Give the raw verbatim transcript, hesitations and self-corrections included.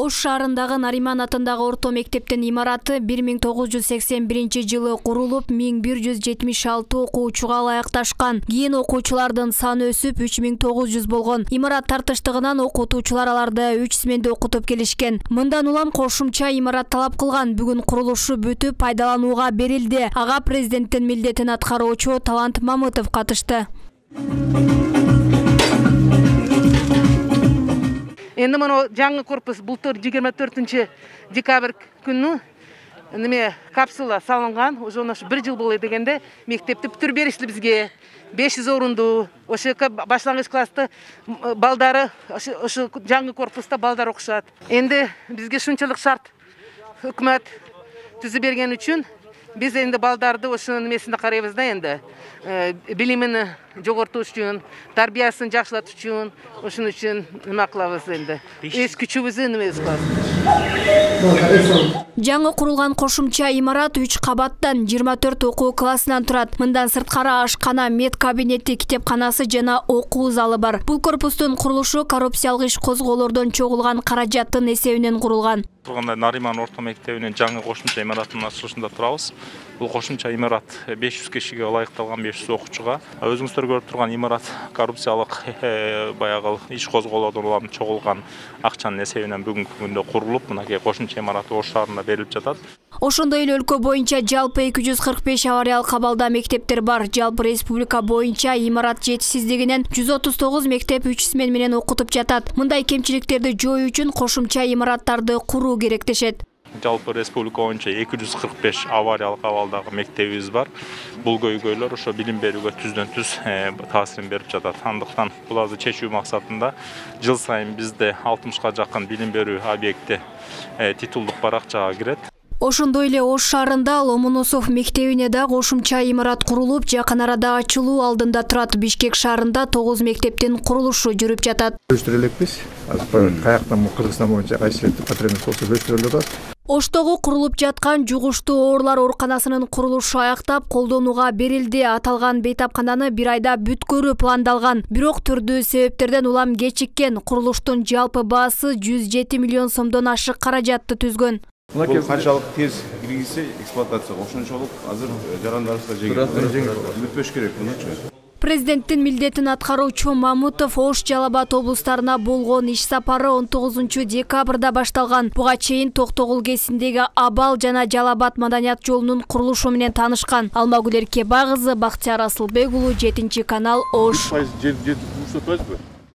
Ош шаарындагы Нариман атындагы орто мектептин имараты бир миң тогуз жүз сексен биринчи жылы курулуп, миң бир жүз жетимиш алты окуучуга ылайыкташкан. Кийин окуучулардын саны өсүп үч миң тогуз жүз болгон. Имарат тартыштыгынан окутуучулар аларды үч сменде окутуп келишкен. Мындан улам кошумча имарат талап кылган. Бүгүн курулушу бүтүп пайдаланууга берилди. Ага президенттин милдетин аткаруучу Талант Мамытов катышты. Энди мына жаңы корпус былтыр жыйырма төртүнчү декабрь күнү неме капсула салынган. Уже ошо бир жыл болот дегенде мектепти бүтүрүп беришти бизге. беш жүз орунду. Ошо башлангыч класста балдары ошо жаңы корпуста балдар окушат. Энди бизге шунчалык шарт өкмөт түзүп берген үчүн биз энди балдарды ошо немесинде карайбыз да, энди билимин жогортуш үчүн, тарбиясын жакшылатыш үчүн, ошон үчүн неме кылабыз энди. Эс күчүбүздү немебиз кылабыз. Жаңы курулган кошумча имарат үч кабаттан жыйырма төрт окуу классынан турат. Мындан сырткары ашкана, мед кабинети, китепканасы жана окуу залы бар. Бул корпустун курулушу коррупциялык иш козголордон чогулган каражаттын эсебинен курулган. Турганда Нариман орто мектебинин жаңы кошумча имаратынын ачылышында турабыз. Бул кошумча имарат беш жүз кишиге ылайыкталган, беш жүз окуучуга. Өзүңүздөр көрүп турган имарат коррупциялык баягы иш козголордон улам чогулган акчанын эсебинен бүгүнкү күндө курулуп, мынакей кошумча имарат Ош шаарында берилип жатат. Ошондой эле өлкө боюнча жалпы эки жүз кырк беш авариялык абалда мектептер бар. Жалпы республика боюнча имарат жетишсиздигинен жүз отуз тогуз мектеп үч смен менен окутуп жатат. Мындай кемчиликтерди жоюу үчүн кошумча имараттарды куруу керек дешет. Жалпы республика боюнча эки жүз кырк беш авариялык абалдагы мектебибиз бар. Бул көйгөйлөр ошо билим берүүгө түздөн түз таасирин берип жатат. Андыктан буларды чечүү максатында жыл сайын бизде алтымышка жакын билим берүү объекти титулдук баракчага кирет. Ошондой эле Ош шаарында Ломоносов мектебине да кошумча имарат курулуп, жакын арада ачылуу алдында турат. Бишкек шаарында тогуз мектептин курулушу жүрүп жатат. Өстүрө элекпиз. Азыр каяктан Кыргызстан боюнча кайсы потребность болсо өстүрө алабыз. Оштогу курулуп жаткан жугуштуу оорулар ооруканасынын курулушу аяктап колдонууга берилди. Аталган бейтапкананы бир айда бүткөрүү пландалган. Бирок түрдүү себептерден улам кечиккен. Курулуштун жалпы баасы жүз жети миллион сомдон ашык каражатты түзгөн. Бул канчалык тез киргизсе эксплуатацияга ошончолук азыр жарандарыбызга жеңил бүтпөш керек мынча. Президенттин милдетин аткаруучу Мамытов Ош, Жалал-Абад облустарына болгон иш сапары он тогузунчу декабрда башталган. Буга чейин Токтогул КЕСиндеги Абал жана Жалал-Абад маданият жолунун курулушу менен таанышкан. Алмагүл Эркебагызы, Бактияр Асылбек уулу, жетинчи канал, Ош.